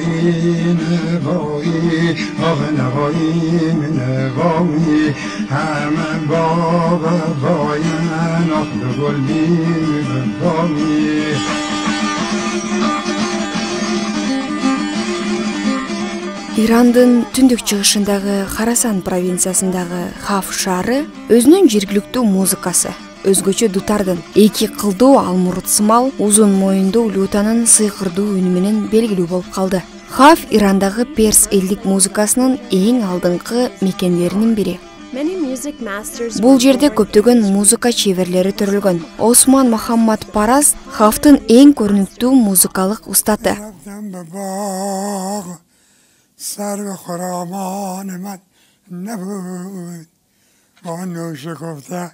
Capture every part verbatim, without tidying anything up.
نوایی نوایی آه نوایی نوایی همه با وفاین آخ گل بی وفایی. Ирандын түндүк чыгышындагы Харасан провинциясындагы Хав шаары өзүнүн жергиликтүү музыкасы, өзгөчө дутардын эки кылдуу алмурутсымал узун моюндуу лютанын сыйкырдуу үнү менен белгилүү болуп калды. Хав Ирандагы перс элдик музыкасынын эң алдыңкы мекендеринин бири. Бул жерде көптөгөн музыка чеберлери төрөлгөн. Осман Мухаммад Параз Хавтын эң көрүнүктүү музыкалык устаты. سر خرامان من نبود با نوش گفته.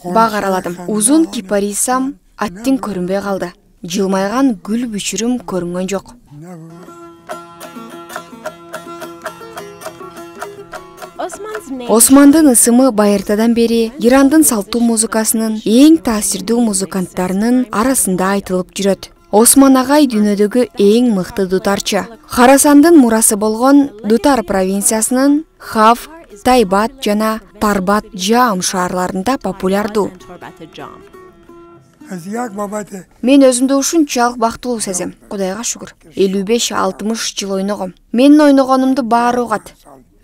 Баг араладым. Узун кипарисам аттин көрүнбөй калды. Жылмайган гүл бүчүрүм көрүнгөн жок. Османдын ысымы байыртадан бери Ирандын салттуу музыкасынын эң таасирдүү музыканттарынын арасында айтылып жүрөт. Осман агай дүйнөдөгү эң мыкты дутарчы. Харасандын мурасы болгон Дутар провинциясынын Хав, Тайбат жана Тарбат Жаам шаарларында популярдуу. Мен өзүмдү ушунчалык бактылуу сезем. Кудайга шүгүр. элүү беш алтымыш жыл ойногом. Менин ойногонумду баары угат.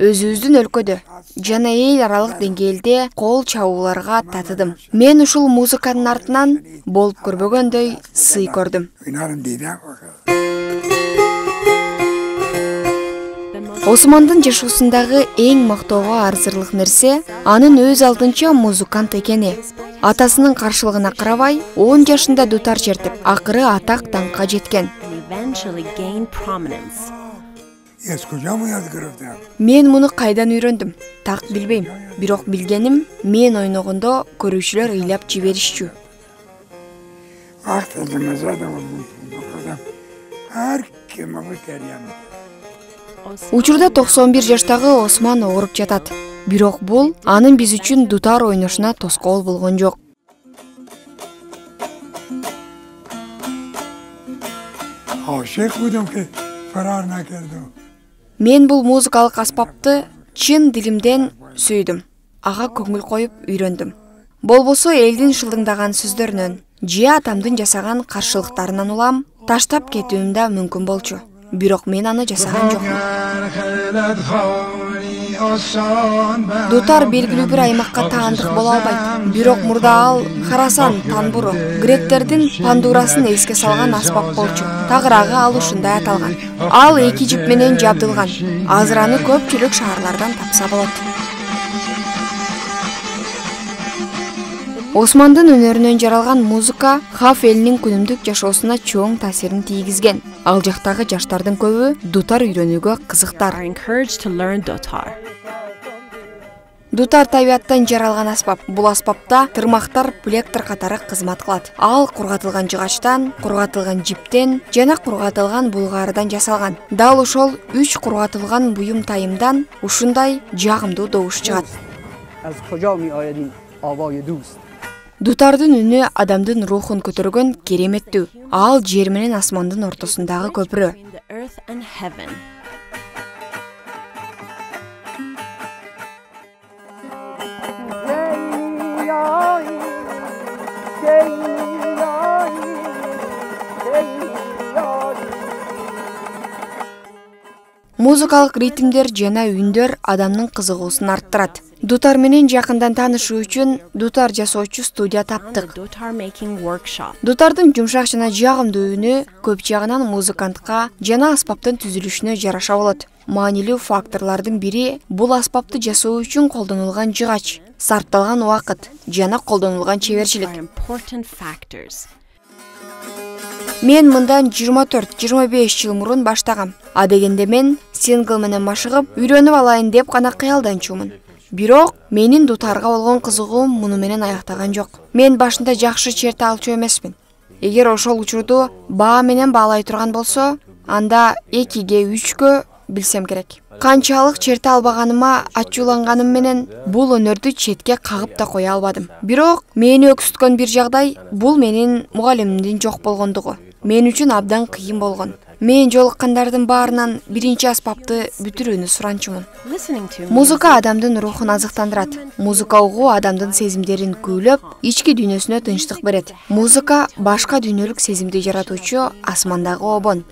Өзүбүздүн өлкөдө жана эл аралык деңгээлде кол чабууларга татыдым. Мен ушул музыканын артынан болуп көрбөгөндөй сый көрдүм. Османдын жашоосундагы эң мактоого арзырлык нерсе анын өз алдынча музыкант экени. Атасынын каршылыгына карабай, он жашында дутар чертип, акыры атак даңкка жеткен. Мен муну кайдан үйрөндүм? Так билбейм. Бирок билгеним, мен ойногондо көрүүчүлөр ыйлап жиберишчү. Учурда токсон бир жаштагы Осман ооруп жатат. Бирок бул анын биз үчүн дутар ойношуна тоскоол болгон жок. Мен бул музыкалык аспапты чын дилимден сүйдүм. Ага көңүл коюп үйрөндүм. Болбосо элдин шылдыңдаган сөздөрүнөн, же атамдын жасаган каршылыктарынан улам таштап кетүүм да мүмкүн болчу. Бирок мен аны жасаган жокмун. Дутар белгилүү бир аймакка таандык боло албайт. Бирок мурда ал Харасан танбуру, гректердин пандурасын эске салган аспап болчу. Тагыраагы ал ушундай аталган. Ал эки жип менен жабдылган. Азыр аны көпчүлүк шаарлардан тапса болот. Османдын өнөрүнөн жаралган музыка Хав элинин күнүмдүк жашоосуна чоң таасирин тийгизген. Ал жактагы жаштардын көбү дутар үйрөнүүгө кызыктар. Дутар табияттан жаралган аспап. Бул аспапта тырмактар плектор катары кызмат кылат. Ал кургатылган жыгачтан, кургатылган жиптен жана кургатылган булгаардан жасалган. Дал ошол үч кургатылган буюм тайымдан ушундай жагымдуу добуш чыгат. Дутардын үнү адамдын рухун көтөргөн кереметтүү. Ал жер менен асмандын ортосундагы көпүрө. Музыкалык ритмдер жана үндөр адамдын кызыгуусун арттырат. Дутар менен жакындан таанышуу үчүн дутар жасоочу студия таптык. Дутардын жумшак жана жагымдуу үнү көп жагынан музыкантка жана аспаптын түзүлүшүнө жараша болот. Маанилүү факторлордун бири бул аспапты жасоо үчүн колдонулган жыгач, сарпталган убакыт жана колдонулган чеберчилик. Мен мындан жыйырма төрт жыйырма беш жыл мурун баштагам. А дегенде мен сингл менен машыгып, үйрөнүп алайын деп гана кыялданчумун. Бирок менин дутарга болгон кызыгуум муну менен аяктаган жок. Мен башында жакшы черте алчу эмесмин. Эгер ошол учурду баа менен баалай турган болсо, анда экиге үчкө билсем керек. Канчалык черте албаганыма ачууланганым менен бул өнөрдү четке кагып да кое албадым. Бирок мени өксүткөн бир жагдай бул менин мугалимимдин жок болгондугу. Мен үчүн абдан кыйын болгон. Мен жолуккандардын баарынан биринчи аспапты бүтүрүүнү суранчумун. Музыка адамдын рухун азыктандырат. Музыка угуу адамдын сезимдерин күйлөп, ички дүйнөсүнө тынчтык берет. Музыка башка дүйнөлүк сезимди жаратуучу асмандагы обон.